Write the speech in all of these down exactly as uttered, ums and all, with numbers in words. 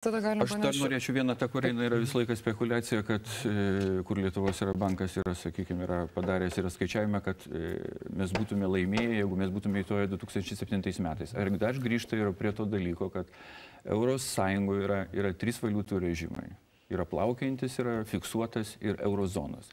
Aš dar norėčiau vieną tą, kur eina yra visą laiką spekulacija, kad kur Lietuvos yra bankas yra, sakykime, yra padaręs yra skaičiavimą, kad mes būtume laimėję, jeigu mes būtume įtoję du tūkstančiai septintais metais. Ar dar grįžta yra prie to dalyko, kad Euros Sąjungoje yra, yra trys valiutų režimai. Yra plaukiantis, yra fiksuotas ir eurozonas.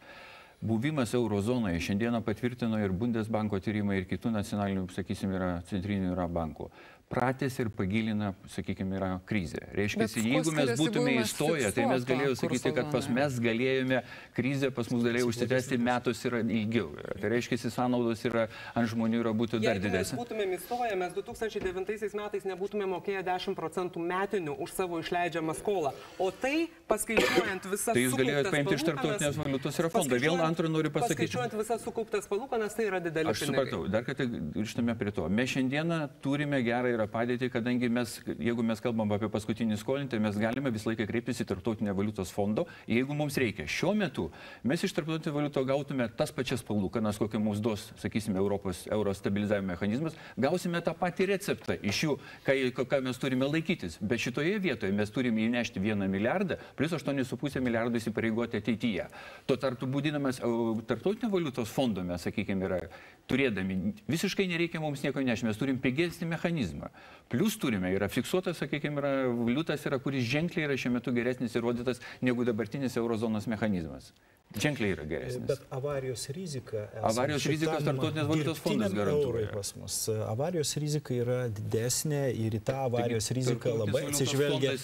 Buvimas eurozonoje šiandieną patvirtino ir Bundesbanko tyrimai, ir kitų nacionalinių, sakysime, yra centrinių yra bankų. Pratęs ir pagilina, sakykime, yra krizė. Reiškia, jeigu mes būtume įstoję, tai mes galėjome sakyti, kad pas mes galėjome, krizė pas mus galėjo užsitęsti metus yra ilgiau. Tai reiškia, sąnaudos yra ant žmonių yra būtų dar didesnė. Jeigu mes būtume įstoję, mes du tūkstančiai devintaisiais metais nebūtume mokėję dešimt procentų metinių už savo išleidžiamą skolą. O tai, paskaičiuojant visas tai jūs galėjote paimti iš tarptautinės valiutos ir fondo. Vėl antrą noriu pasakyti. Paskaičiuojant visas sukauptas palūkanas, tai yra didelis pinigai. Aš supratau, dar kartą grįžtame prie to. Mes šiandieną turime gerą yra padėtį, kadangi mes, jeigu mes kalbam apie paskutinį skolinį, tai mes galime visą laiką kreiptis į tarptautinę valiutos fondo, jeigu mums reikia. Šiuo metu mes iš tarptautinio valiuto gautume tas pačias palūkanas, kokią mums duos, sakysime, Europos euro stabilizavimo mechanizmas, gausime tą patį receptą iš jų, ką, ką mes turime laikytis. Bet šitoje vietoje mes turime įnešti vieną milijardą, plus aštuonis su puse milijardo įsipareigoti ateityje. Tuo tarpu būdinamas tarptautinio valiutos fondo mes, sakykime, yra turėdami, visiškai nereikia mums nieko nešti, mes turim pigesnį mechanizmą. Plius turime, yra fiksuotas, sakykime, yra valiutas, yra, kuris ženkliai yra šiuo metu geresnis įrodytas negu dabartinis eurozonos mechanizmas. Ženkliai yra geresnis. Bet avarijos rizika... Avarijos rizikas tarptautinės valiutos fondas garantuoja. Pas mus. Avarijos rizika yra didesnė ir į tą avarijos riziką labai atsižvelgia,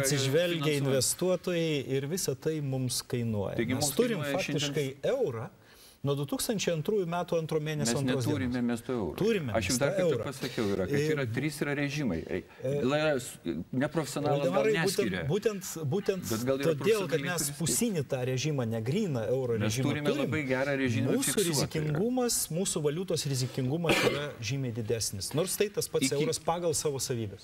atsižvelgia investuotojai ir visa tai mums kainuoja. Mes turim faktiškai eurą. Nuo du tūkstančiai antrųjų metų antro mėnesio antros dienos. Mes neturime miesto eurų. Turime Aš jums dar kartą pasakiau, yra, kad yra trys yra režimai. Neprofesionalas gal neskiria. Būtent, būtent todėl, kad mes pusinį tą režimą, negryną euro režimą turime labai gerą režimą mūsų rizikingumas, mūsų valiutos rizikingumas yra žymiai didesnis. Nors tai tas pats euras pagal savo savybės.